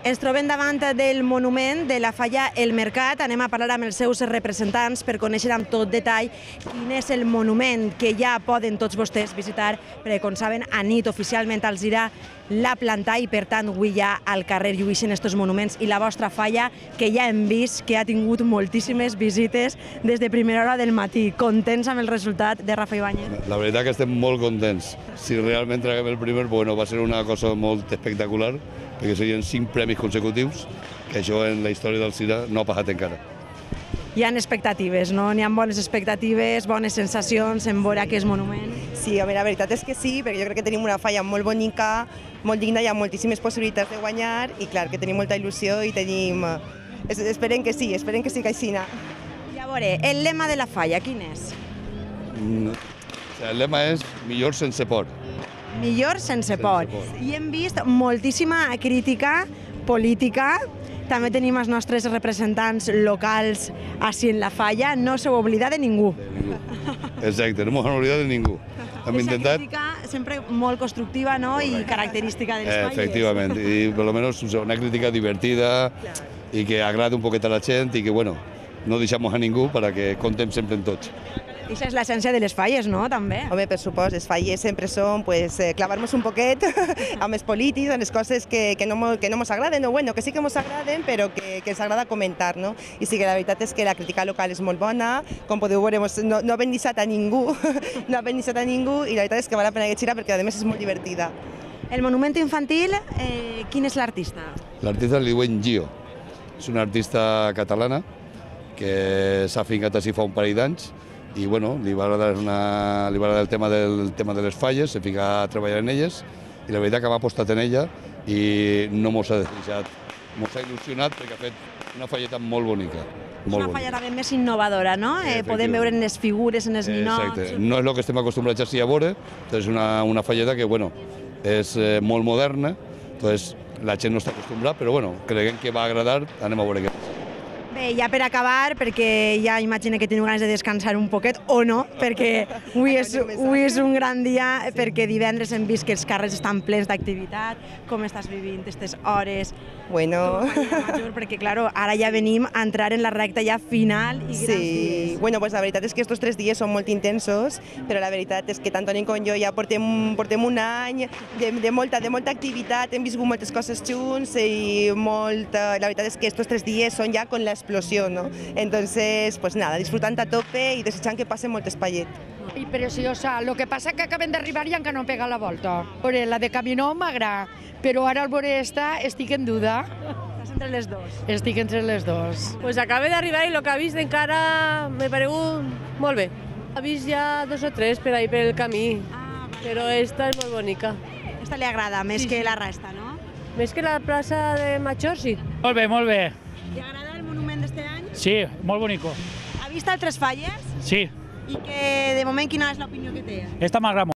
Ens trobem davant del monument de la falla El Mercat. Anem a parlar amb els seus representants per conèixer amb tot detall quin és el monument que ja poden tots vostès visitar, perquè, com saben, a nit oficialment els irà la plantar i, per tant, avui ja al carrer lluïxen aquests monuments i la vostra falla, que ja hem vist que ha tingut moltíssimes visites des de primera hora del matí. Contents amb el resultat de Rafa Ibáñez? La veritat que estem molt contents. Si realment traguem el primer, bueno, va ser una cosa molt espectacular, perquè serien 5 premis consecutius, que això en la història del CIRA no ha passat encara. Hi ha expectatives, no? N'hi ha bones expectatives, bones sensacions en veure aquest monument. Sí, home, la veritat és que sí, perquè jo crec que tenim una falla molt bonica, molt digna, hi ha moltíssimes possibilitats de guanyar i clar, que tenim molta il·lusió i tenim... Esperem que sí que així. I a veure, el lema de la falla, quin és? El lema és millor sense por. Millor sense por. I hem vist moltíssima crítica política. També tenim els nostres representants locals així en la falla. No s'ho oblida de ningú. Exacte, no m'ho oblidat de ningú. Hem intentat... crítica sempre molt constructiva, no? I característica de les falles. Efectivament, i per almenys una crítica divertida i que agrada un poquet a la gent i que, bueno, no deixamos a ningú perquè contem sempre en tots. I això és l'essència de les falles, no?, també. Home, per supost, les falles sempre són clavar-nos un poquet amb els polítics, amb les coses que no ens agraden, o bueno, que sí que ens agraden, però que ens agrada comentar, no? I sí que la veritat és que la crítica local és molt bona, com podeu veure, no hem deixat a ningú, i la veritat és que val la pena llegir-la perquè a més és molt divertida. El monument infantil, quin és l'artista? L'artista li diuen Gio. És una artista catalana que s'ha fincat així fa un parell d'anys i bueno, li va agradar el tema de les falles, se fica a treballar en elles i la veritat que m'ha apostat en ella i no mos ha deixat, mos ha il·lusionat perquè ha fet una falleta molt bonica. És una falla també més innovadora, no? Podem veure en les figures, en els ninots... Exacte, no és el que estem acostumbrats així a veure, és una falleta que bueno, és molt moderna, doncs la gent no està acostumbrada, però bueno, creiem que va agradar, anem a veure què passa. Bé, ja per acabar, perquè ja imagino que teniu ganes de descansar un poquet, o no, perquè avui és un gran dia, perquè divendres hem vist que els carrers estan plens d'activitat. Com estàs vivint aquestes hores? Bueno... Perquè, clar, ara ja venim a entrar en la recta ja final i grans dies. Bueno, pues la veritat és que estos 3 dies són molt intensos, però la veritat és que tant Toni com jo ja portem un any de molta activitat, hem viscut moltes coses junts i la veritat és que estos 3 dies són ja con l'explosió, ¿no? Entonces, pues nada, disfrutant a tope i desitjant que passen molt espaiet. I preciosa, lo que passa que acabem d'arribar i encara no pega la volta. La de Camino m'agrada, però ara al veure esta estic en duda. Estàs entre les dues? Estic entre les dues. Pues acabé d'arribar i el que ha vist encara m'ha paregut molt bé. Ha vist ja 2 o 3 per ahí pel camí, però esta és molt bonica. Esta li agrada més que la resta, no? Més que la plaça de Major, sí. Molt bé, molt bé. Li agrada el monument d'este any? Sí, molt bonico. Ha vist altres falles? Sí, I que de moment quina és l'opinió que té? esta m'agrada molt.